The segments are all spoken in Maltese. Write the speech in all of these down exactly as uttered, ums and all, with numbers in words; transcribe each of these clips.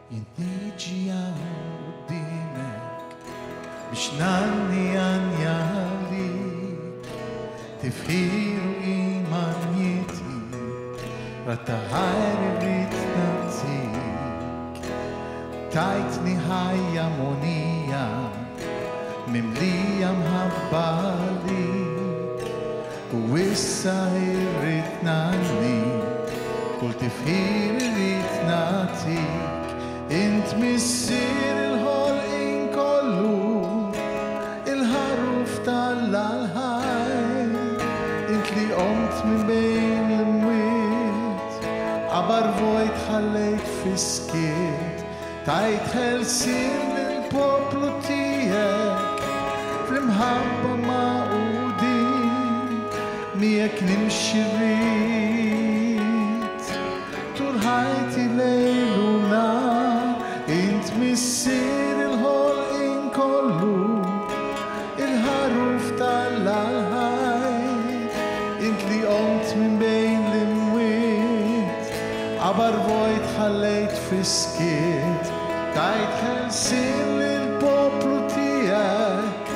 Jien niġi qudiemek biex ngħanni għanja għalik, tifħir u qima njieti, radd ta' ħajr irrid nagħtik. Tajtni ħajja mogħnija, mimlija mħabba għalik, u issa irrid ngħanni, kull tifħir irrid nagħtik. Int missier il-ħolqien kollu, il-ħaruf t'Alla l-ħaj, int li qomt minn bejn l-imwiet, qabar vojt ħallejt fis-skiet, tajt ħelsien lill-poplu tiegħek, fl-imħabba magħqudin, miegħek nimxi rrid, tul ħajti lejl u nhar, int missier il-ħolqien kollu, il-ħaruf t'Alla l-ħaj, int li qomt minn bejn l-imwiet, qabar vojt ħallejt fis-skiet, tajt ħelsien lill-poplu tiegħek,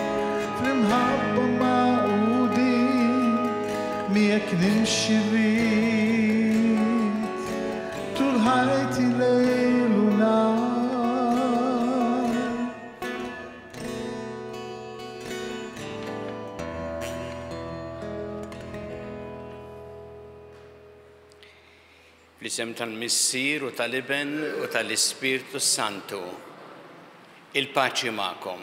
fl-imħabba magħqudin, miegħek nimxi rrid, tul ħajti lejl u nhar. Fl-isem tal-Missier u tal-Iben u tal-Ispirtu Santu, il-paċi magħkom.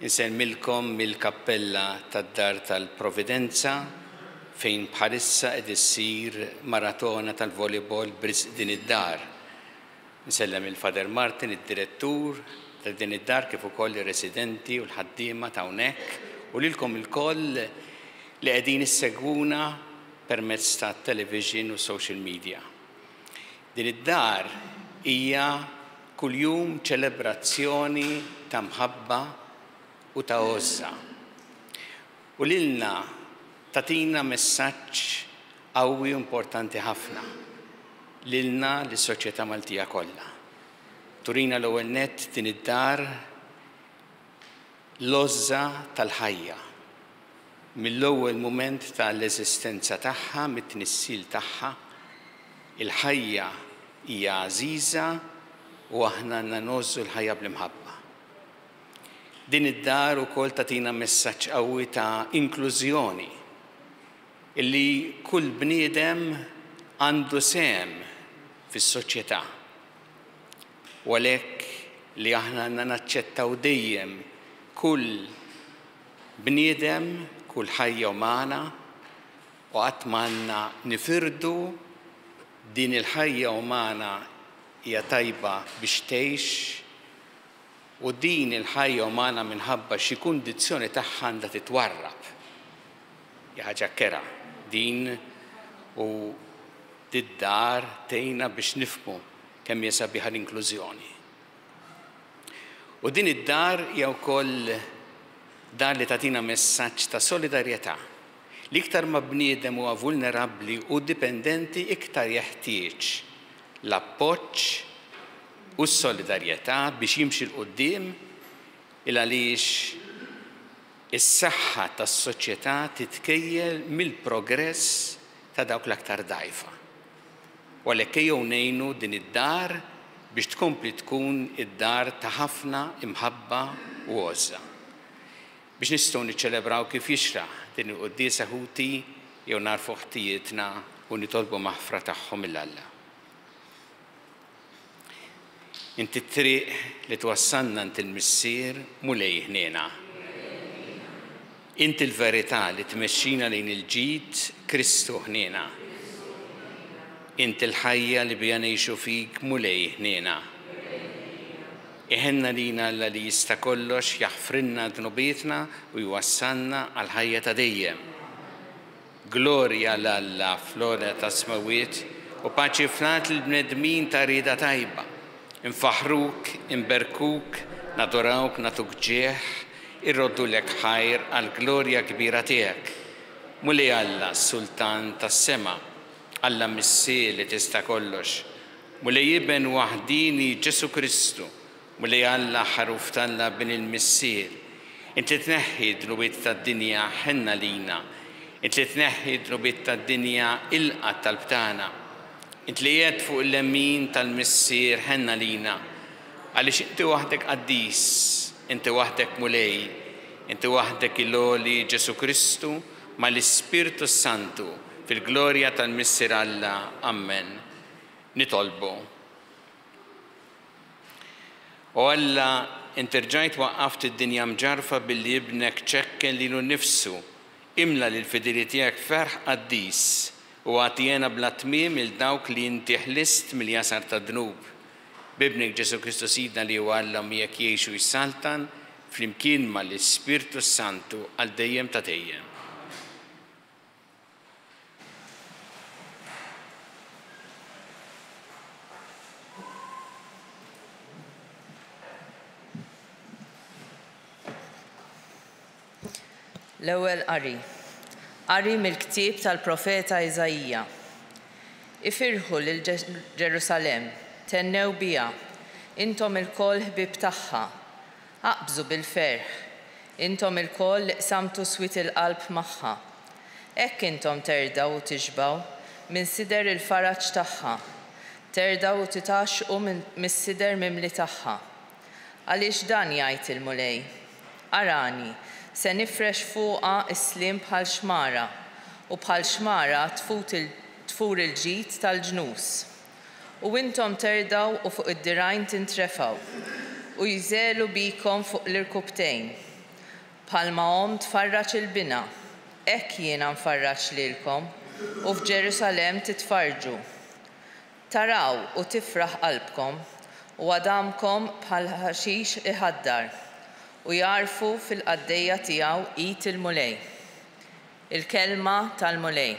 Insellmilkom mill-kappella tad-Dar tal-Providenza fejn bħalissa qed issir maratona tal-volleyball b'risq din id-dar. Insellem il-Father Martin, id-direttur ta' din id-dar, kif ukoll ir-residenti u l-ħaddiema ta' hawnhekk, u lilkom ilkoll li qegħdin issegwuna permezz ta' television u social media. Din id-dar hija kuljum ċelebrazzjoni ta' mħabba u ta' għożża. U lilna tagħtina messaġġ qawwi u importanti ħafna lilna lis-soċjetà Maltija kollha. Turina l-ewwel nett din id-dar l-għożża tal-ħajja. Mill-ewwel mument tal-eżistenza tagħha, mit-tnissil tagħha, il-ħajja hija għażiża u aħna għandna ngħożżu l-ħajja bl-imħabba. Din id-dar ukoll tagħtina messaġġ qawwi ta' inklużjoni, illi kull bniedem għandu sehem fis-soċjetà. U għalhekk li aħna għandna naċċettaw dejjem kull bniedem, kull ħajja umana, u qatt m'għandna nifirdu din il-ħajja umana hija tajba biex tgħix, u din il-ħajja umana minħabba xi kundizzjoni tagħha għandha titwarrab. Hija ħaġa kera din, u d-dar tgħinna biex nifhmu kemm hija sabiħa l-inklużjoni. U din id-dar hija wkoll dar li tagħtina messaġġ ta' solidarjetà. L-iktar ma bniedem huwa vulnerabbli u dipendenti, iktar jeħtieġ l-appoġġ u s-solidarjetà biex jimxi 'l quddiem, il għaliex is-saħħa tas-soċjetà titkejjel mill-progress ta' dawk l-aktar dgħajfa. U għalhekk ejjew ngħinu din id-dar biex tkompli tkun id-dar ta' ħafna imħabba u għożża. Biex nistgħu niċċelebraw kif jixraq din il-quddiesa ħuti, jew narfu ħtijietna u nitolbu maħfra tagħhom lil Alla. Inti t-triq li twassalna għand il-Missier, Mulej ħniena. Inti l-verità li tmexxina lejn il-ġid, Kristu ħniena. Inti l-ħajja li bija ngħixu fik, Mulej ħniena. Iħenna lina Alla li jista' kollox, jaħfrilna dnubietna u jwassalna għal-ħajja ta' dejjem. Glorja 'l Alla fl-ogħla tas-smewwiet u paċi fl-art lill-bnedmin ta' rieda tajba. Infaħruk, inberkuk, nadorawk, nagħtuk ġieħ, irroddulek ħajr għall-glorja kbira tiegħek. Mulej Alla, Sultan tas-sema, Alla Missier li tista' kollox, Mulej Iben waħdini Ġesù Kristu, Mulej Alla ħaruf t'Alla bin il-Missier, int li tneħħi d-dnubiet tad-dinja ħenna lina, int li tneħħi d-dnubiet tad-dinja ilqa' t-talb tagħna, int li qiegħed fuq il-lemin tal-Missier ħenna lina, għaliex inti waħdek qaddis, inti waħdek Mulej, inti waħdek il-għoli Ġesù Kristu mal-Ispirtu Santu fil-glorja tal-Missier Alla. Amen. Nitolbu. O Alla, inti rġajt waqqaft id-dinja mġarfa billi ibnek ċekken lilu nnifsu, imla lill-fidili tiegħek ferħ qaddis u agħti bla tmiem il dawk li inti ħlist mill-jasar tad-dnub. B'ibnek Ġesù Kristu Sidna li huwa Alla miegħek jgħix u jsaltan flimkien mal-Ispirtu Santu għal dejjem ta' dejjem. L-ewwel qari. Qari mill-ktieb tal-profeta Iżaija. Ifirħu lil Ġerusalemm, tennew biha, intom ilkoll ħbieb tagħha. Aqbżu bil-ferħ, intom ilkoll li qsamtu swied il-qalb magħha. Hekk intom terdgħu u tixbgħu minn sider il-faraġ tagħha, terdgħu u titgħaxxqu mis-sider mimli tagħha. Għaliex dan jgħid il-Mulej, arani, se nifrex fuqha s-sliem bħal xmara, u bħal xmara tfur il-ġid tal-ġnus. U intom terdgħu u fuq id-dirgħajn tintrefgħu, u jżelu bikom fuq l-irkubtejn. Bħalma omm tfarraġ il-bina, hekk jiena nfarraġ lilkom, u f'Ġerusalemm titfarġu. Taraw u tifraħ qalbkom, u għadamkom bħal ħaxix iħaddar, u jarfu fil-qaddejja tiegħu id il-Mulej. Il-kelma tal-Mulej.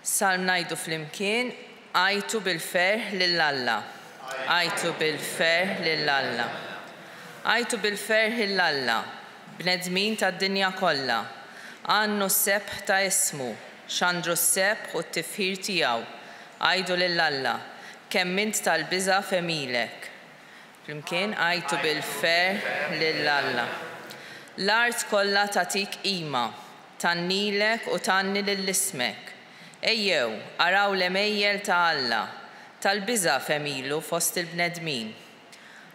Salm ngħidu flimkien, għajtu bil-ferħ lil Alla. Għajtu bil-ferħ lil Alla. Għajtu bil-ferħ lil Alla, bnedmin tad-dinja kollha. Għannu s-sebħ ta' ismu, xandru s-sebħ u t-tifħir tiegħu. Għajdu lil Alla, kemm int tal-biża' f'għemilek. Flimkien għajtu bil-ferħ lil Alla. L-art kollha tagħtik qima, tgħannilek u tgħanni lil ismek. Ejjew, araw l-għemejjel ta' Alla, tal-biża' f'għemilu fost il-bnedmin.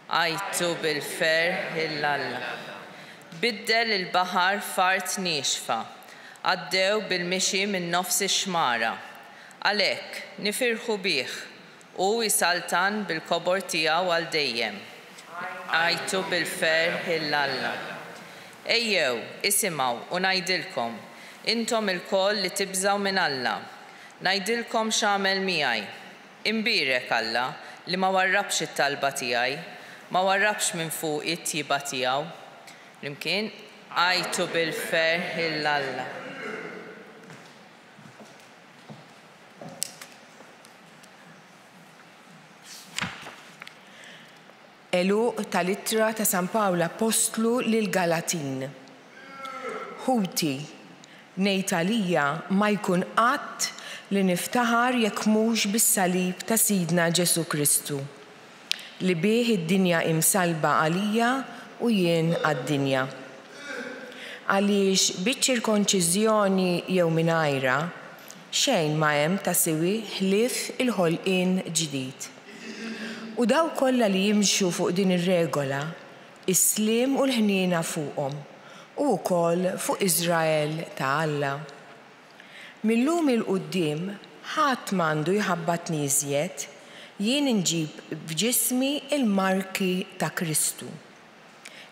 Għajtu bil-ferħ lil Alla. Biddel il-baħar f'art niexfa, għaddew bil-mixi minn nofs ix-xmara. Għalhekk, nifirħu bih, u jsaltan bil-kobor tiegħu għal dejjem. Għajtu bil-ferħ lil Alla. Ejjew, isimgħu u ngħidilkom, intom ilkoll li tibżgħu minn Alla. Ngħidilkom x'għamel miegħi. Imbierek Alla li ma warrabx it-talba tiegħi, ma warrabx minn fuqi t-tjieba tiegħu. Flimkien, għajtu bil-ferħ lil Alla. Għeluq tal-ittra ta' San Pawl Apostlu lil Galatin. Ħuti, ngħid għalija ma jkun qatt li niftaħar jekk mhux bis-salib ta' Sidna Ġesù Kristu, li bih id-dinja imsalba għalija u jien għad-dinja. Għaliex biċ-ċirkonċiżjoni jew mingħajrha, xejn ma hemm ta' siwi ħlief il-ħolqien ġdid. U daw kollha li jimxu fuq din ir-regola, is-sliem u l-ħniena fuqhom, u wkoll fuq Iżrael ta' Alla. Mil-lum il-quddiem ħadd m'għandu jħabbatni iżjed, jien inġib f'ġismi il-marki ta' Kristu.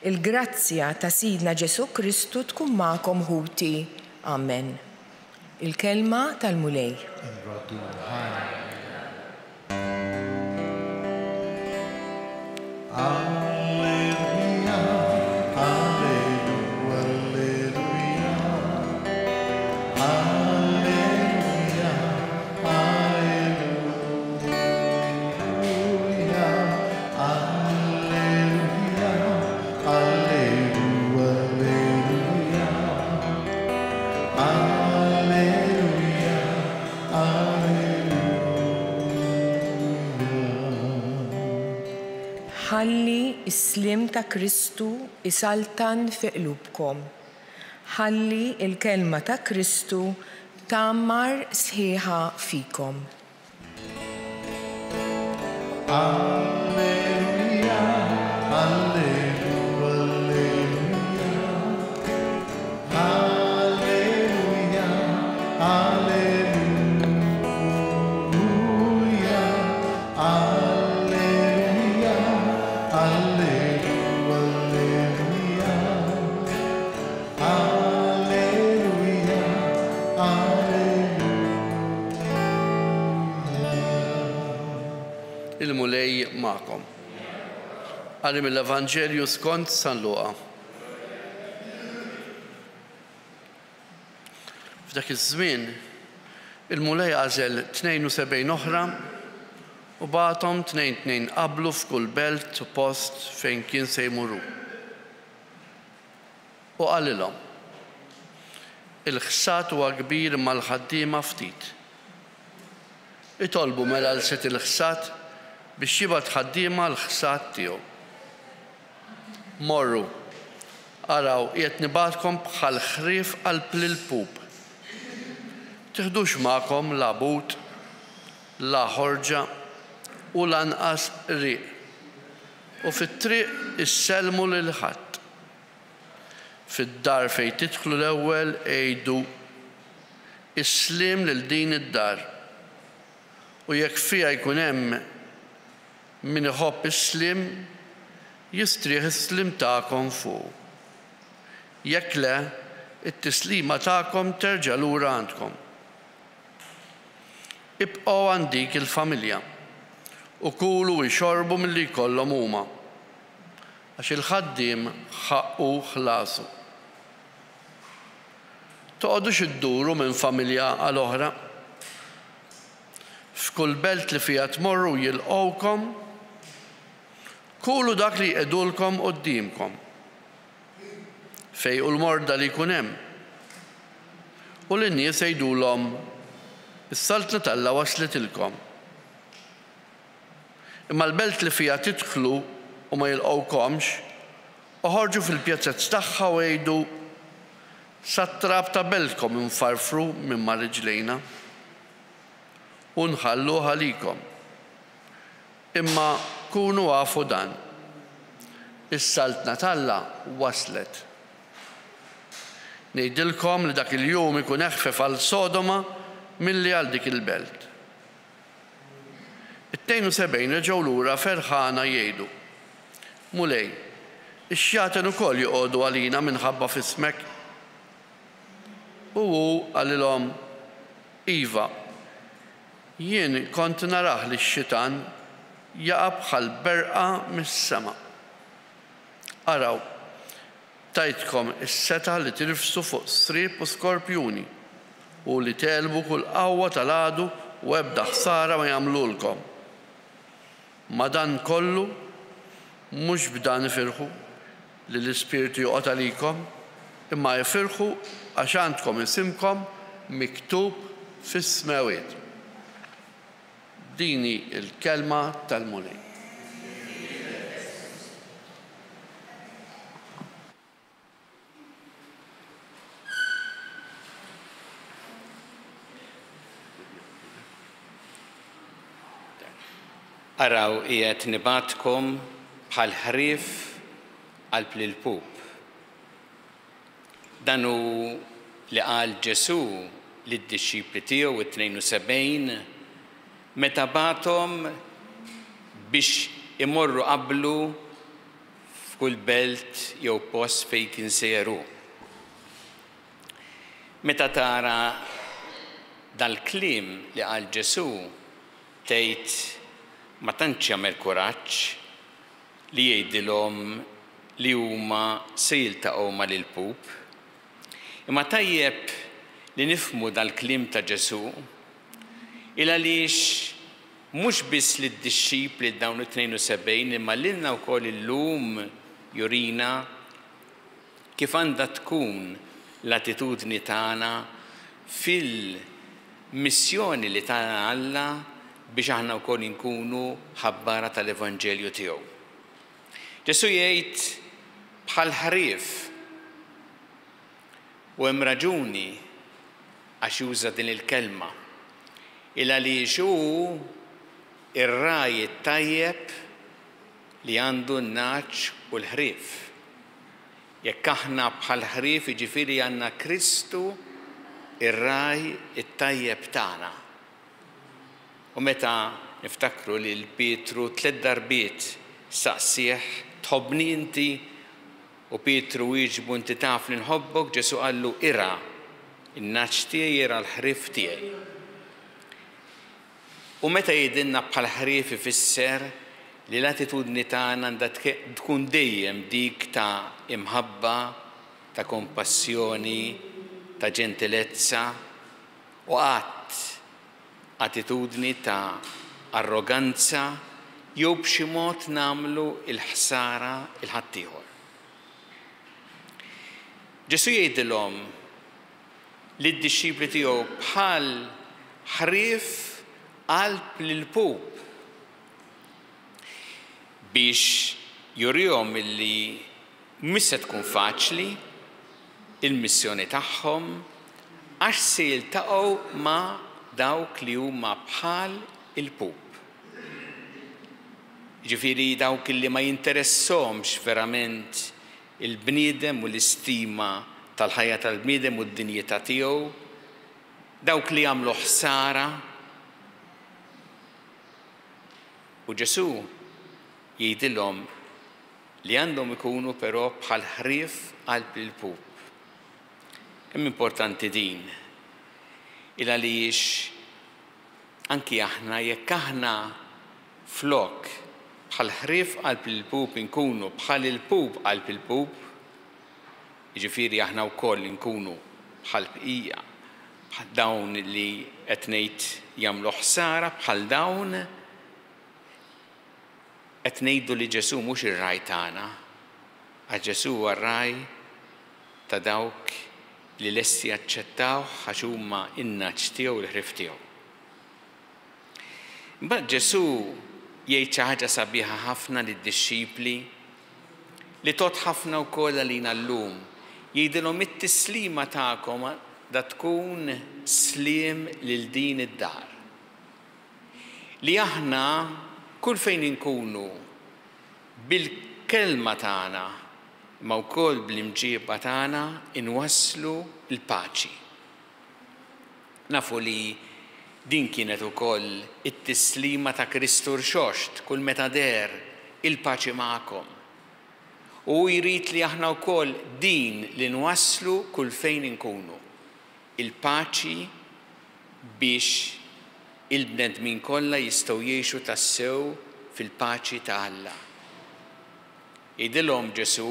Il-grazzja ta' Sidna Ġesù Kristu tkun magħkom ħuti. Amen. Il-kelma tal-Mulej. Alleluia, alleluia, alleluia, alleluia, alleluia, alleluia, alleluia, alleluia, Ħalli s-sliem ta' Kristu isaltan fi qlubkom. Ħalli l-kelma ta' Kristu tgħammar sħiħa fikom. Alleluja, alleluja, alleluja, alleluja, alleluja, alleluja, alleluja, alleluja. Il-Mulej magħkom. Qari mill-Evanġelju skont San Luqa. F'dak iż-żmien il-Mulej għażel tnejn u sebgħin oħra u bagħathom tnejn tnejn qablu f'kull belt u post fejn kien se jmur hu. U qalilhom: Il-ħsad huwa kbir imma l-ħaddiema ftit. Itolbu mela l sid il-ħsad biex jibgħat ħaddiema l-ħsad tiegħu. Morru, araw, qiegħed nibgħatkom bħal ħrief qalb l-ilpup. Tiħdux magħkom la but, la ħorġa u lanqas riq. U fit-triq issellmu lil ħadd. Fid-dar fejn tidħlu l-ewwel għidu is-sliem lil din id-dar. U jekk fiha jkun hemm min iħobb is-sliem, jistrieħ is-sliem tagħkom fuq. Jekk le, it-tislima tagħkom terġa' lura għandkom. Ibqgħu għand dik il-familja u kulu u xorbu milli jkollhom huma, għax il-ħaddiem ħaqqu ħlasu. Toqgħodux idduru minn familja għal oħra. F'kull belt li fiha tmorru jilqgħukom, kulu dak li jqegħdulkom quddiemkom. Fejqu l-morda li jkun hemm. U lin-nies jgħidulhom: Is-saltna t'Alla waslitilkom. Imma l-belt li fiha tidħlu u ma jilqgħukomx, oħorġu fil-pjazzezz tagħha u jgħidu: Sat-trab ta' beltkom infarfru minn ma' riġlejna u nħalluh għalikom. Imma kunu għafu dan: is-saltna t'Alla waslet. Ngħidilkom li dak il-jum ikun eħfef għal Sodoma milli għal dik il-belt. It-tnejn u sebgħin reġgħu lura ferħana jgħidu: Mulej, ix-xjaten ukoll joqogħdu għalina minħabba f'ismek. U hu qalilhom: Iva, jien kont narah li x-xitan jaqa' bħal berqa mis-sema. Araw, tajtkom is-setgħa li tirfsu fuq sriep u skorpjuni u li tegħlbu kull qawwa tal-għadu u ebda ħsara ma jagħmlulkom. Ma dan kollu mhux b'dan ifirħu li l-Ispirtu joqgħod għalikom, imma ifirħu għax għandkom isimkom miktub fis-smewwiet. Din hi l-kelma tal-Mulej. Araw, qiegħed nibgħatkom bħal ħrief qalb l-ilpup. Dan hu li qal Ġesù lid-dixxipli tiegħu it-tnejn u sebgħin meta bagħathom biex imorru qablu f'kull belt jew post fejn kien sejjer hu. Meta tara dal-kliem li qal Ġesù, tgħid ma tantx jagħmel kuraġġ li jgħidilhom li huma se jiltaqgħu mal-ilpup. Imma tajjeb li nifhmu dal-kliem ta' Ġesù il għaliex mhux biss lid-dixxipli dawn it-tnejn u sebgħin imma lilna wkoll illum jurina kif għandha tkun l-attitudni tagħna fil-missjoni li tana Alla biex aħna wkoll inkunu ħabbara tal-Evanġelju tiegħu. Ġesù jgħid bħal ħrief, u hemm raġuni għax juża din il-kelma, il għaliex hu ir-ragħaj it-tajjeb li għandu n-nagħaġ u l-ħrief. Jekk aħna bħal ħrief, jiġifieri għandna Kristu ir-ragħaj it-tajjeb tagħna. U meta niftakru li l-Pietru tliet darbiet saqsih tħobbni inti, u Pietru wieġbu inti taf li nħobbok, Ġesù qallu irgħa in-nagħaġ tiegħi, irgħa l-ħrief tiegħi. U meta jgħidilna bħal ħrief ifisser li l-attitudni tagħna għandha tkun dejjem dik ta' imħabba, ta' kompassjoni, ta' ġentilezza, u qatt attitudni ta' arroganza jew b'xi mod nagħmlu l-ħsara il ħaddieħor. Ġesù jgħidilhom lid-dixxipli tiegħu bħal ħrief qalb l-ilpup biex jurihom illi mhux se tkun faċli il-missjoni tagħhom għax se jiltaqgħu ma' dawk li huma bħal il-pup. Ġifieri dawk li ma jinteressahomx verament il-bniedem u l-istima tal-ħajja tal-bniedem u d-dinjità tiegħu, dawk li jagħmlu ħsara. U Ġesù jgħidilhom li għandhom ikunu però bħal ħrief qalb il-pup. Kemm importanti din, il għaliex anki aħna jekk aħna flok bħal ħrief qalb il-pup inkunu bħal il-pup qalb il-pup, jiġifieri aħna wkoll inkunu bħal bqija, bħal dawn li qed ngħid jagħmlu ħsara, bħal dawn qed ngħidu li Ġesù mhux ir-ragħaj tagħna, għax Ġesù huwa r-ragħaj ta' dawk li lesti jaċċettawh għax huma n-nagħaġ tiegħu, l-ħrief tiegħu. Imbagħad Ġesù jgħid xi ħaġa sabiħa ħafna lid-dixxipli li tgħodd ħafna wkoll għalina llum. Jgħidilhom it-tislima tagħkom da tkun sliem lil din id-dar. Li aħna kull fejn inkunu bil-kelma tagħna imma wkoll bl-imġieba tagħna inwasslu l-paċi. Nafu li din kienet ukoll it-tislima ta' Kristu rxoxt kull meta deher, il-paċi magħkom. U jrid li aħna wkoll din li nwasslu kull fejn inkunu. Il-paċi biex il-bnedmin kollha jistgħu jgħixu tassew fil-paċi ta' Alla. Jgħidilhom Ġesù,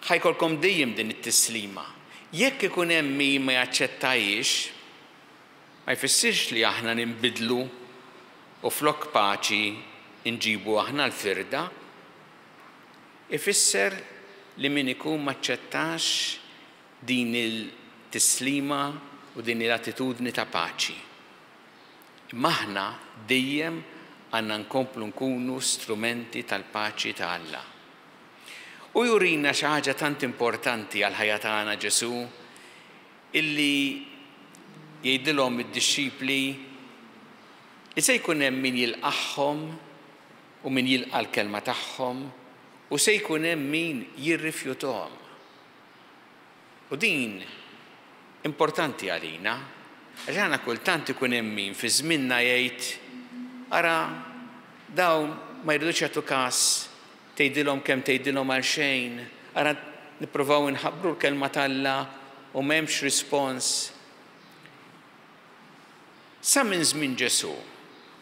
ħajkolkom dejjem din it-tislima. Jekk ikun hemm min ma jaċċettajiex, ma jfissirx li aħna ninbidlu u flok paċi nġibu aħna l-firda. Ifisser li min ikun maċċettax din il-tislima u din l-attitudni ta' paċi. Imma aħna dejjem għandna nkomplu nkunu strumenti tal-paċi ta' Alla. U jurina xi ħaġa tant importanti għall-ħajja tagħna Ġesù, illi jgħidilhom id-dixxipli li se jkun hemm min jilqagħhom u min jilqa' l-kelma tagħhom u se jkun hemm min jirrifjutahom. U din importanti għalina, għax aħna kultant ikun hemm min fi żmienna jgħid ara dawn ma jridux jagħtu każ, tgħidilhom kemm tgħidilhom għal xejn, ara nippruvaw inħabbru l-kelma t'Alla u m'hemmx rispons. Sa minn żmien Ġesù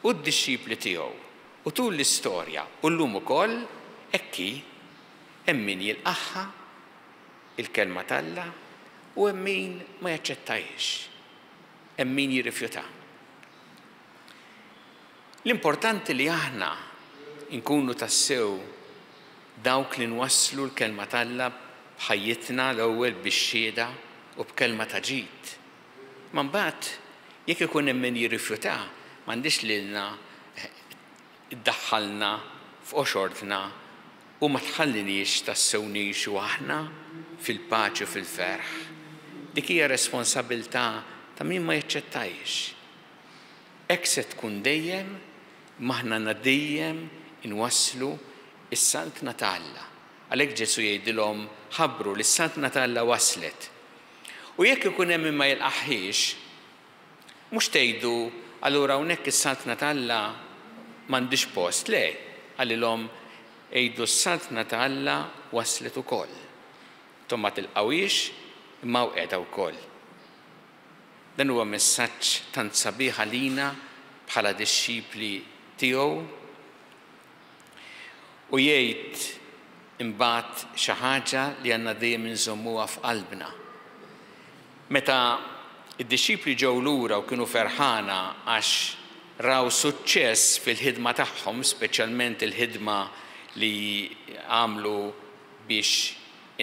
u d-dixxipli tiegħu u tul l-istorja u llum ukoll hekk hi, hemm min jilqagħha il-kelma t'Alla u hemm min ma jaċċettajiex, hemm min jirrifjuta. L-importanti li aħna nkunu tassew dawk li nwasslu l-kelma t'Alla b'ħajjitna l-ewwel bix-xhieda u b'kelma ta' ġid. Ma mbagħad jekk ikun hemm min jirrifjuta, m'għandix lilna iddaħħalna f'qoxortna u ma tħalliniex tassew ngħixu aħna fil-paċi u fil-ferħ. Dik hija responsabilità ta' min ma jaċċettajx. Hekk se tkun dejjem, m'aħna għandna dejjem inwasslu is-saltna ta' Alla. Għalhekk Ġesù jgħidilhom ħabbru li s-saltna ta' Alla waslet. U jekk ikun hemm min ma jilqaħħiex, mhux tgħidu allura hawnhekk is-saltna ta' Alla m'għandix post, le, qalilhom għidu s-saltna ta' Alla waslet ukoll. Intom ma tilqawhiex imma hawn qiegħda wkoll. Dan huwa messaġġ tant sabiħ għalina bħala dixxipli tiegħu. U jgħid imbagħad xi ħaġa li għandna dejjem inżommuha f'qalbna. Meta id-dixxipli ġew lura u kienu ferħana għax raw suċċess fil-ħidma tagħhom, speċjalment il-ħidma li għamlu biex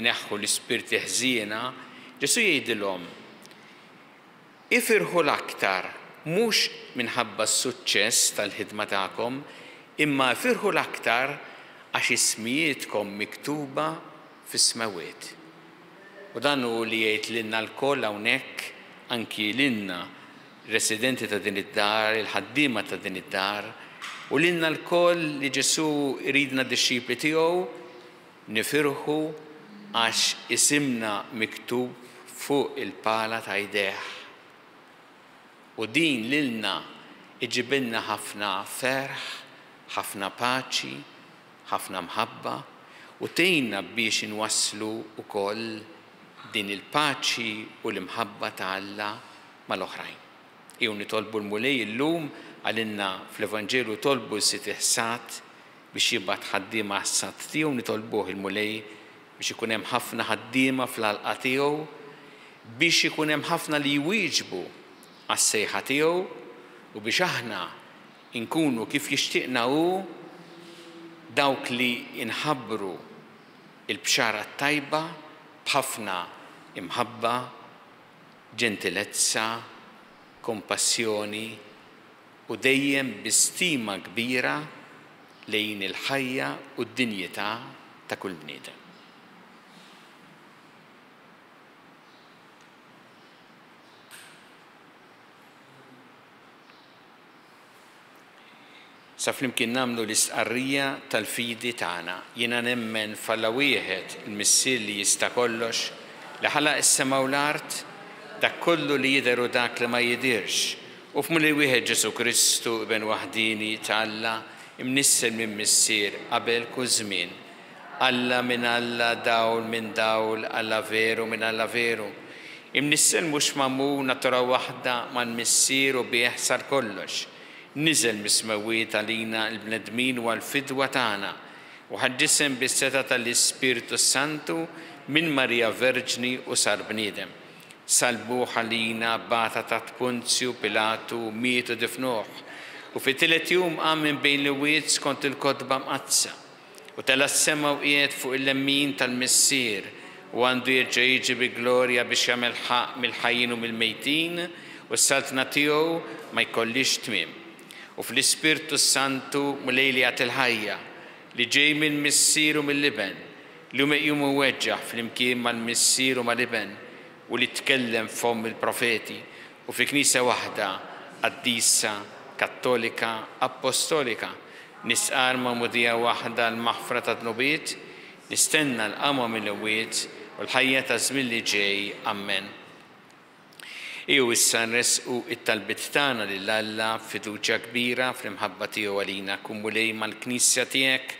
ineħħu l-ispirti ħżiena, Ġesù jgħidilhom ifirħu l-aktar mhux minħabba s-suċċess tal-ħidma tagħkom, imma ifirħu l-aktar għax ismijietkom miktuba fis-smewwiet. U dan hu li jgħid lilna lkoll hawnhekk, anki lilna residenti ta' din id-dar, il-ħaddiema ta' din id-dar, u lilna lkoll li Ġesù jridna dixxipli tiegħu, nifirħu għax isimna miktub fuq il-pala ta' jdejh. U din lilna iġibilna ħafna ferħ, ħafna paċi, ħafna mħabba, u tgħinna biex inwasslu wkoll din il-paċi u l-imħabba ta' Alla mal-oħrajn. Ejjew nitolbu l-Mulej illum għalinna fl-Evanġelu tolbu l-Sid il-ħsad biex jibgħat ħaddiema għas-ħsad tiegħu, nitolbuh il-Mulej biex ikun hemm ħafna ħaddiema fl-għalqa tiegħu, biex ikun hemm ħafna li jwieġbu għas-sejħa tiegħu u biex aħna nkunu kif jixtieqna hu dawk li inħabbru il-bxara t-tajba b'ħafna imħabba, ġentilezza, kompassjoni u dejjem bi stima kbira lejn il-ħajja u d-dinjità ta' kull bniedem. Sa flimkien nagħmlu l-istqarrija tal-fidi tagħna. Jiena nemmen f'Alla wieħed, il-Missier li jista' kollox, li ħalaq is-sema u l-art, dak kollu li jidher u dak li ma jidhirx, u f'Mulej wieħed Ġesù Kristu, Iben waħdini ta' Alla, imnissel minn Missier qabel kull żmien. Alla minn Alla, dawl minn dawl, Alla veru minn Alla veru. Imnissel mhux magħmul natura waħda mal-Missier u bih sar kollox. Niżel mis-smewwiet għalina l-bnedmin u għall-fidwa tagħna, u ħa ġisem bis-setgħa tal-Ispirtu Santu minn Marija Verġni u sar bniedem. Salbuh għalina bata ta' Ponzju Pilatu, miet u difnuh, u fit-tielet jum qam minn bejn l-imwiet skont il-kotba mqaddsa, u tela' s-sema u qiegħed fuq il-lemmin tal-Missier, u għandu jerġa' jiġi bi glorja biex jagħmel ħaqq mill-ħajjin u mill-mejtin, u s-saltna tiegħu ma jkollix tmiem. U fl-Ispirtu Santu Mulej li jagħti l-ħajja, li ġej mill-Missier u mill-Iben, li hu meqjum u weġġaħ flimkien mal-Missier u mal-Iben, u li tkellem f'fomm il-profeti, u fi Knisja waħda, qaddisa, kattolika, apostolika, nistqarr magħmudija waħda l-maħfra ta' dnubiet, nistenna l-qamwa mill-imwiet u l-ħajja ta' żmien li ġej. Amen. Ejjew issa nresqu it-talbiet tagħna lil Alla b'fiduċja kbira fl-imħabba tiegħu għalina. Kun Mulej mal-Knisja tiegħek,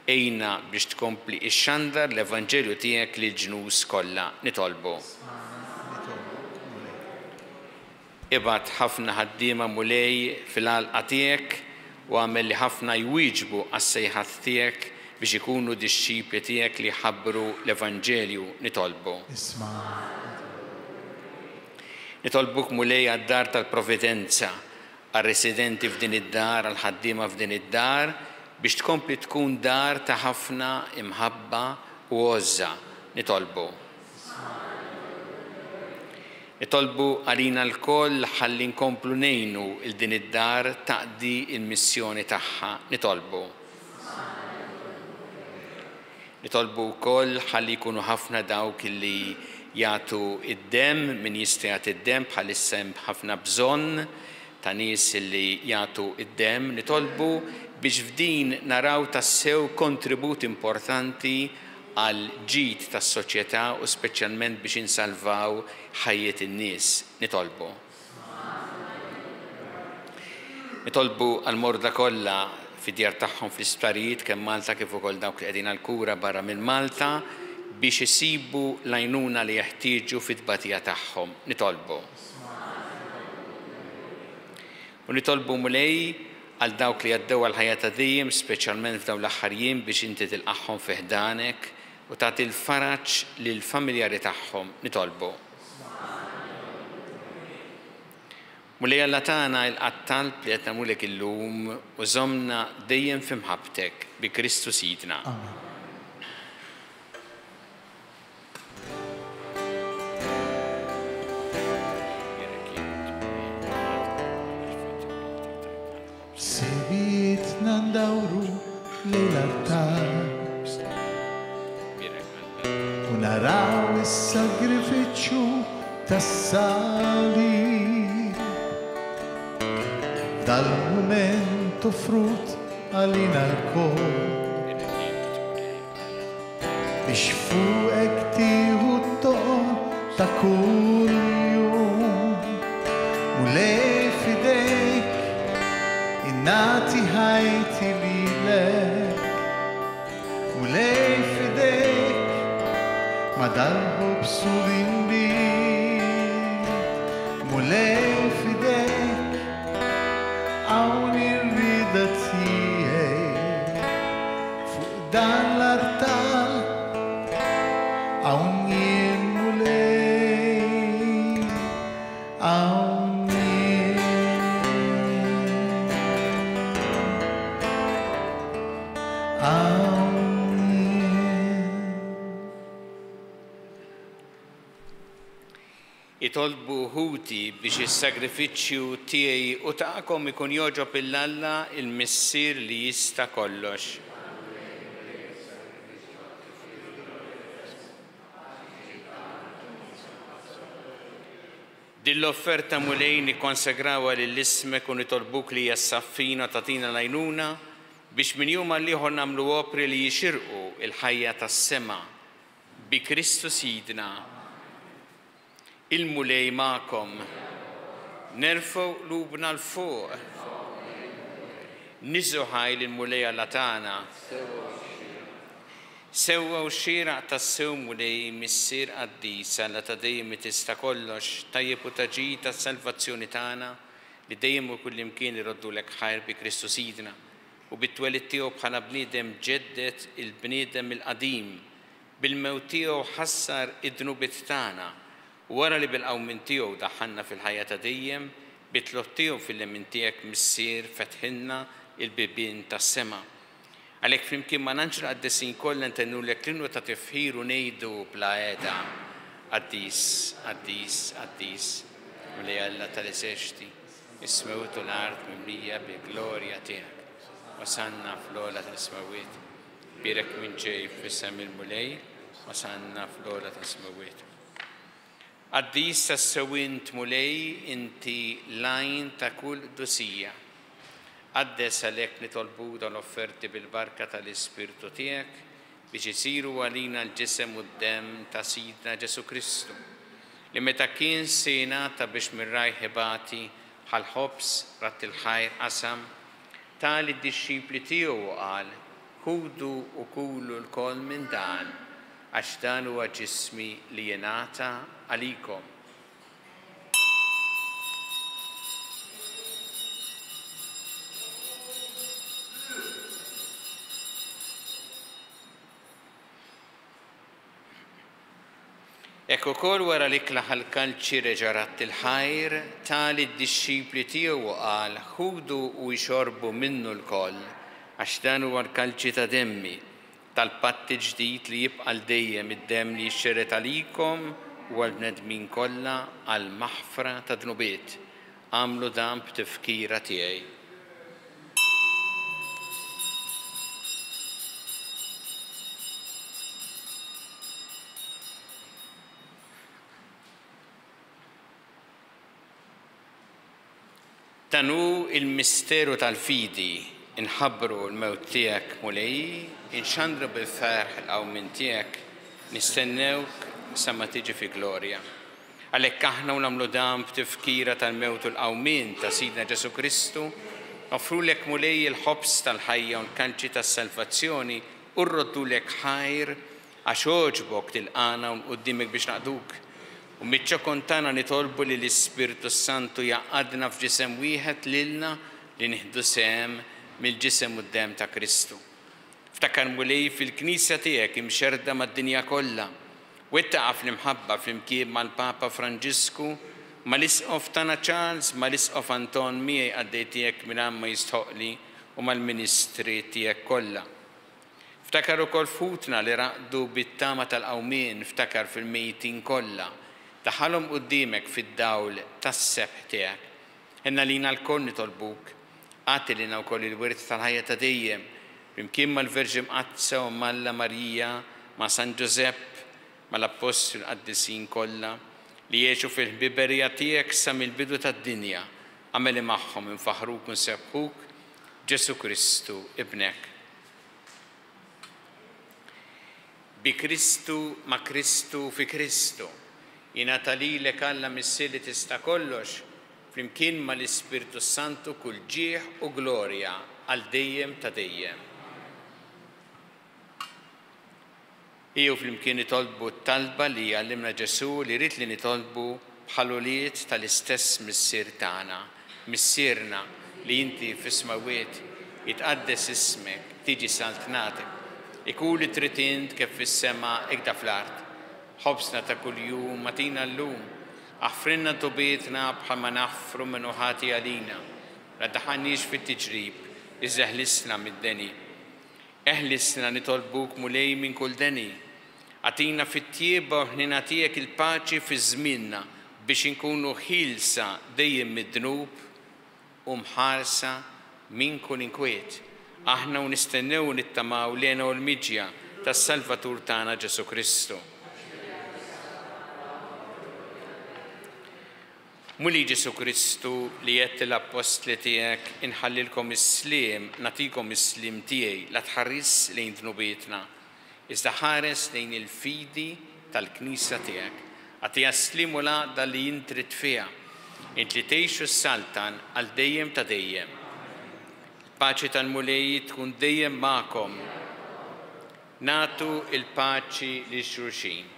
għinna biex tkompli ixxandar l-Evanġelju tiegħek lill-ġnus kollha. Nitolbu. Ibgħat ħafna ħaddiema Mulej fil-għalqa tiegħek u għamel li ħafna jwieġbu għas-sejħat tiegħek biex ikunu dixxipli tiegħek li jħabbru l-Evanġelju. Nitolbu. Nitolbuk Mulej għad-dar tal-Providenza, għar-residenti f'din id-dar, għall-ħaddiema f'din id-dar, biex tkompli tkun dar ta' ħafna imħabba u għożża. Nitolbu. Nitolbu għalina lkoll ħalli nkomplu ngħinu il din id-dar taqdi il-missjoni tagħha. Nitolbu. Nitolbu wkoll ħalli jkunu ħafna dawk li jagħtu id-demm, min jista' jagħti id-demm bħalissa hemm ħafna bżonn ta' nies li jagħtu id-demm. Nitolbu biex f'din naraw tassew kontribut importanti għal ġid tas-soċjetà u speċjalment biex insalvaw ħajjet in-nies. Nitolbu. Nitolbu għall-morda kollha fid-djar tagħhom fl-isptarijiet kemm Malta kif ukoll dawk li qegħdin għall-kura barra minn Malta biex isibu l-għajnuna li jeħtieġu fit-tbatija tagħhom. Nitolbu. U nitolbu Mulej għal dawk li għaddew għall-ħajja ta' dejjem, speċjalment f'dawn l-aħħar jiem biex inti tilqagħhom fi ħdanek u tagħti l-faraġ lill-familjari tagħhom. Nitolbu. Mulej Alla tagħna ilqa' t-talb li qed nagħmlulek illum u żommna dejjem fi mħabbtek bi Kristu Sidna. Amen. Sibietna ndawru lejn l-altar u naraw is-sagrifiċċju tas-salib. Dal-mument offrut għalina lkoll biex fuqek tieħu t-toqol ta' kull jum. Mulej f'idejk innati ħajti lilek, Mulej f'idejk ma dal-ħobż u l-inbid, Mulej f'idejk hawn ir-rieda tiegħi fuq dan l-artal hawn jien Mulej, hawn jien. Hawn jien. Itolbu ħuti biex is-sagrifiċċju tiegħi u tagħkom ikun jogħġob lil Alla il-Missier li jista' kollox. Din l-offerta Mulej nikkonsegrawha lil ismek u nitolbuk li hija ssaffina u tagħtina l-għajnuna biex minn jum għal ieħor nagħmlu opri li jixirqu il-ħajja tas-sema bi Kristu Sidna. Il-Mulej magħkom. Nerfgħu qlubna 'l fuq. Niżżu ħaj lill-Mulej Alla tagħna. Sewwa u xieraq tassew Mulej Missier qaddis, Alla ta' dejjem li tista' kollox, tajjeb u ta' ġid tas-salvazzjoni tagħna li dejjem u kullimkien iroddulek ħajr bi Kristu Sidna u bit-twelid tiegħu bħala bniedem ġeddet il-bniedem il-qadim, bil-mewt tiegħu ħassar id-dnubiet tagħna u wara li bil-qawmien tiegħu daħħalna fil-ħajja ta' dejjem, bit-tlugħ tiegħu fil-lemin tiegħek Missier fetħilna il-bibien tas-sema. Għalhekk flimkien ma' l-anġli qaddisin kollha ntennulek l-innu ta' tifħir u ngħidu bla għeda: Qaddis, qaddis, qaddis, Mulej Alla tal-eżerċti, is-smewwiet u l-art mimlija bil-glorja tiegħek. Osanna fl-ogħla tas-smewwiet. Bierek min ġej f'isem il-Mulej, osanna fl-ogħla tas-smewwiet. Qaddis tassew int Mulej, inti l-għajn ta' kull qdusija. Qaddes għalhekk nitolbu dawn l-offerti bil-barka tal-Ispirtu tiegħek biex isiru għalina l-ġisem u d-demm ta' Sidna Ġesù Kristu, li meta kien se jingħata biex minn rajh ibati ħall-ħobż radd il-ħajr qasam, ta lid-dixxipli tiegħu u qal: Ħudu u kulu lkoll minn dan, għax dan huwa ġismi li jingħata għalikom. Hekk ukoll wara li klaħ l-kalċi reġa' radd il-ħajr, ta lid-dixxipli tiegħu u qal: Ħudu u jxorbu minnu lkoll, għax dan huwa l-kalċi ta' demmi, tal-patt ġdid li jibqa' għal dejjem, id-demm li jixxerred għalikom u għall-bnedmin kollha għall-maħfra ta' dnubiet. Agħmlu dan b'tifkira tiegħi. Dan hu il-misteru tal-fidi, inħabbru l-mewt tiegħek Mulej, inxandru bil-ferħ il-qawmien tiegħek, nistennewk sa ma tiġi fi glorja. Għalhekk aħna u nagħmlu dan b'tifkira tal-mewt u l-qawmien ta' Sidna Ġesù Kristu, offrulek Mulej il-ħobż tal-ħajja u l-kanċi tas-salvazzjoni u rroddulek ħajr għax għoġbok tilqana u quddiemek biex naqduk. U miċ-ċokon tagħna nitolbu li l-Ispirtu Santu jaqadna f'ġisem wieħed lilna li nieħdu sehem mill-ġisem u d-demm ta' Kristu. Ftakar Mulej fil-Knisja tiegħek imxerda mad-dinja kollha. Wettaqa fl-imħabba flimkien mal-Papa Franġisku, mal-Isqof tagħna Charles, mal-Isqof Anton miegħi qaddej tiegħek mingħajr ma jistħoqli u mal-ministri tiegħek kollha. Ftakar ukoll f'ħutna li raqdu bit-tama tal-qawmien, ftakar fil-mejtin kollha. Daħalhom quddiemek fid-dawl tas-sebħ tiegħek. Ħenna lina lkoll nitolbuk, agħti lilna wkoll il-wirt tal-ħajja ta' dejjem, flimkien mal-Verġni Mqaddsa u Malla Marija, ma' San Ġużepp, mal-Appostli u l-Qaddisin kollha li jgħixu fil-ħbiberija tiegħek sa mill-bidu tad-dinja. Agħmel li magħhom infaħruk u nsebbħuk, Ġesù Kristu ibnek. Bi Kristu, ma' Kristu, fi Kristu, jingħata lilek Alla Missier li tista' kollox, flimkien mal-Ispirtu Santu kull ġieħ u glorja għal dejjem ta' dejjem. Ejjew flimkien nitolbu t-talba li għallimna Ġesù li jrid li nitolbu bħal ulied tal-istess Missier tagħna. Missierna li inti fis-smewwiet, jitqaddes ismek, tiġi saltnatek, ikun li trid int kif fis-sema ikda fl-art. Ħobsna ta' kuljum agħtina llum, aħfrilna dnubietna bħalma naħfru min hu ħati għalina. La ddaħħalniex fit-tiġrib, iżda ħlisna mid-deni. Eħlisna nitolbuk Mulej minn kull deni. Agħtina fit-tjieba u ħnina tiegħek il-paċi fi żmienna biex inkunu ħielsa dejjem mid-dnub u mħarsa minn kull inkwiet. Aħna u nistennew u nittamaw lena u l-miġja tas-Salvatur tagħna Ġesù Kristu. Mulej Ġesù Kristu li għedt l-appostli tiegħek inħallilkom is-sliem, nagħtikom is-sliem tiegħi, la tħares lejn dnubietna, iżda ħares lejn il-fidi tal-Knisja tiegħek. Agħtiha s-sliem u l-għaqda li int trid fiha, int li tgħix u ssaltan għal dejjem ta' dejjem. Il-paċi tal-Mulej tkun dejjem magħkom. Nagħtu il-paċi lil xulxin.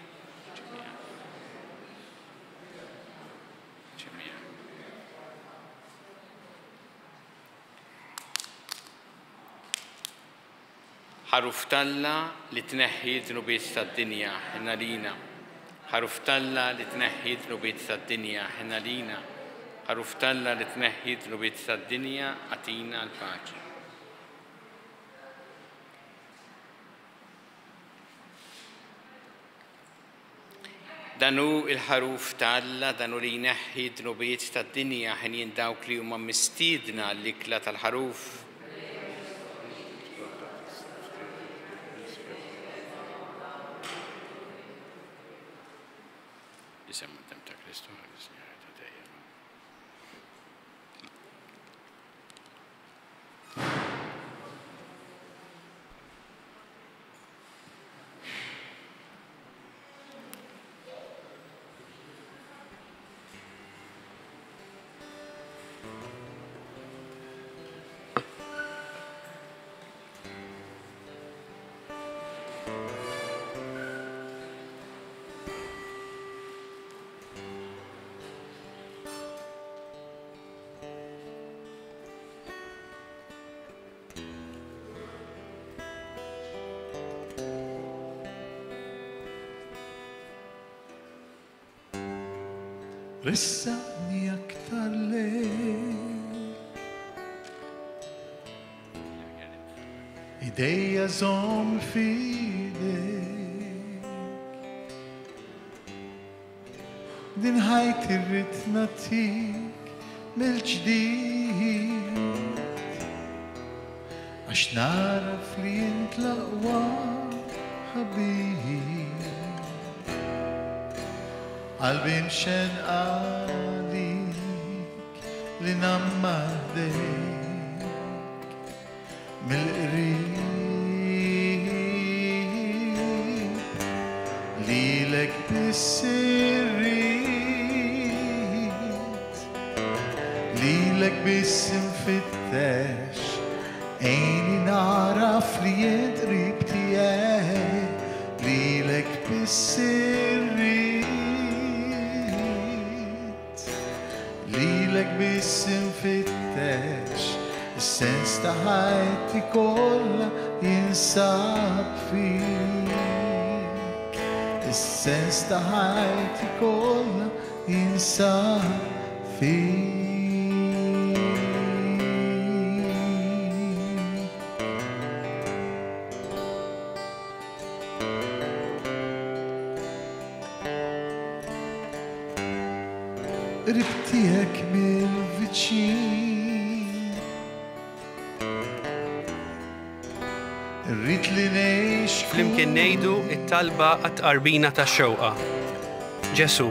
Ħaruf t'Alla li tneħħi d-dnubiet tad-dinja, ħenna lina. Ħaruf t'Alla li tneħħi d-dnubiet tad-dinja, ħenna lina. Ħaruf t'Alla li tneħħi d-dnubiet tad-dinja, agħtina l-paċi. Dan hu il-ħaruf t'Alla, dan hu li jneħħi d-dnubiet tad-dinja, ħenjin dawk li huma mistiedna l-ikla tal-ħaruf. Ressaqni aktar lejk, idejja żomm f'idejk, din ħajti rrid nagħtik mill-ġdid, għax naraf li int l-aqwa ħabib. Qalbi mxenqa għalik li ngħammar ħdejk mill-qrib, lilek biss irrid, lilek biss infittex, għinni naraf li int qrib tiegħi, lilek biss irrid, lilek biss infittex, is-sens ta' ħajti kollha jinsab fik, is-sens ta' ħajti kollha jinsab fik. Qrib tiegħek mill-viċin, irrid li ngħix Flimkien ngħidu it-talba għat-tqarbina tax-xewqa. Ġesu,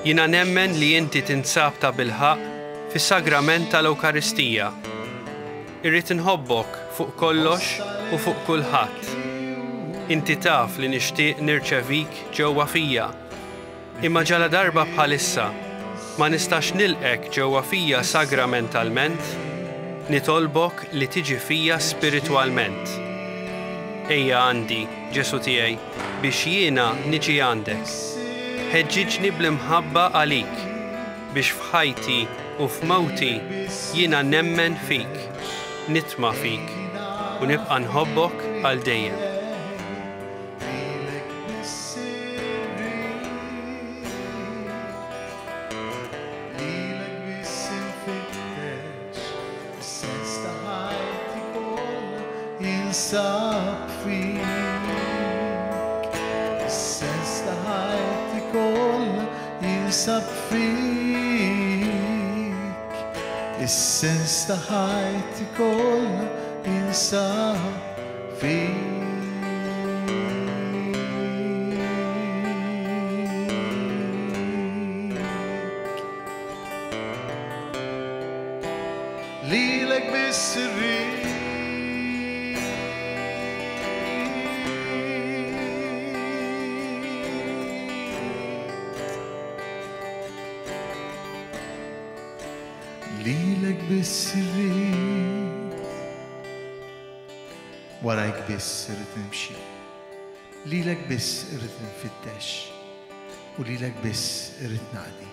jiena nemmen li inti tinsab ta' bilħaqq fis-sagrament tal-Ewkaristija. Irrid inħobbok fuq kollox u fuq kulħadd. Inti taf li nixtieq nirċevik ġewwa fija, imma ġala darba bħalissa ma nistax nilqek ġewwa fija sagramentalment, nitolbok li tiġi fija spiritwalment. Ejja għandi, Ġesu tiegħi, biex jiena niġi għandek. Ħeġġiġni bl-imħabba għalik, biex f'ħajti u f'mewti jiena nemmen fik, nitma' fik u nibqa' nħobbok għal dejjem. Lilek biss irrid, lilek biss infittex, is-sens ta' ħajti kollha jinsab fik, is-sens ta' ħajti kollha jinsab fik, is-sens ta' ħajti kollha jinsab fik. Lilek biss irrid, lilek biss irrid, warajk biss irrid nimxi, lilek biss irrid nfittex, u lilek biss irrid naqdi.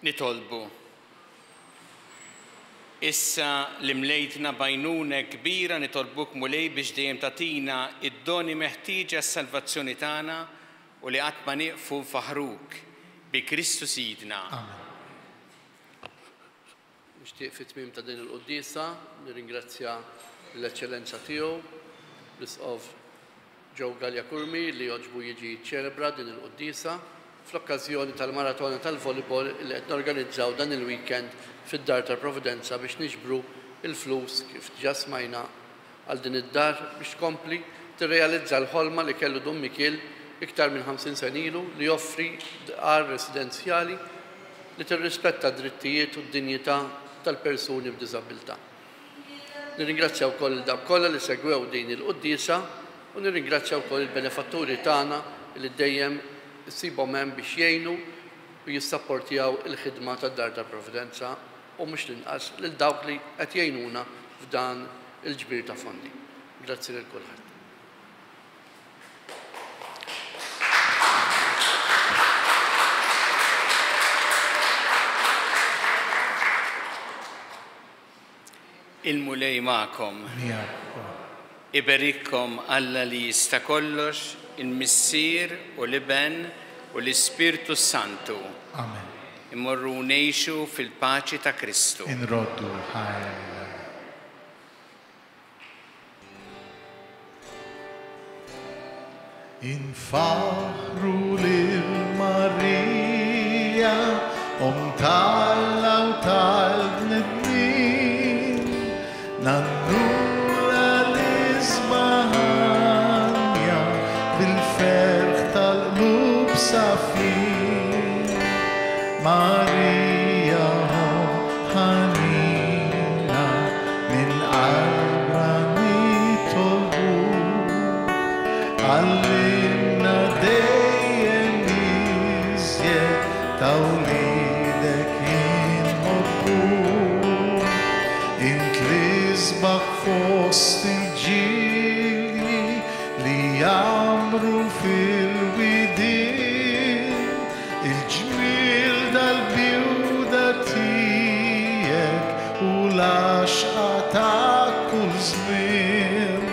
Nitolbu. Issa li mlejtna bajnuna kbira nitolbuk Mulej biex dejjem tagħtina id-doni meħtieġa għas-salvazzjoni tagħna u li qatt ma nieqfu nfaħruk bi Kristu Sidna. Amen. Nixtieq fit-tmiem ta' din il-quddiesa nirringrazzja l-Eċċellenza tiegħu, l-Isqof Joe Galea Curmi, li għoġbu jiġi ċelebra din il-quddiesa fl-okkażjoni tal-maratona tal-volleyball li qed norganizzaw dan il-weekend fid-Dar tal-Providenza biex niġbru il-flus kif ġa smajna għal din id-dar biex tkompli tirrealizza l-ħolma li kellu Dun Mikiel iktar minn ħamsin sena ilu li joffri dar residenzjali li tirrispetta d-drittijiet u d-dinjità tal-persuni b'diżabilità. Nirringrazzja wkoll il dawk kollha li segwew din il-quddiesa u nirringrazzja wkoll il-benefatturi tagħna li dejjem issibhom hemm biex jgħinu u jissapportjaw il-ħidma tad-Dar tal-Providenza u mhux l-inqas lil dawk li qed jgħinuna f'dan il-ġbir ta' fondi. Grazzi lil kulħadd. Il-Mulej magħkom. Iberikkom Alla li jista' kollox, il-Missier u l-Iben u l-Ispirtu Santu. Amen. Immorru ngħixu fil-paċi ta' Kristu. Inroddu ħajja lil Alla. Infaħru lil Marija, Omm t'Alla u tal-bnedmin, nannula l-isbaħanja bil-ferħ tal-qlub safin. Marija ħanina minn qalbna nitolbuk, għallimna dejjem iżjed ta' wliedek inħobbuk. Int l-isbaħ fost il-ġilji li jgħammru fil-widien, il-ġmiel dal-bjuda tiegħek u l-għaxqa ta' kull żmien.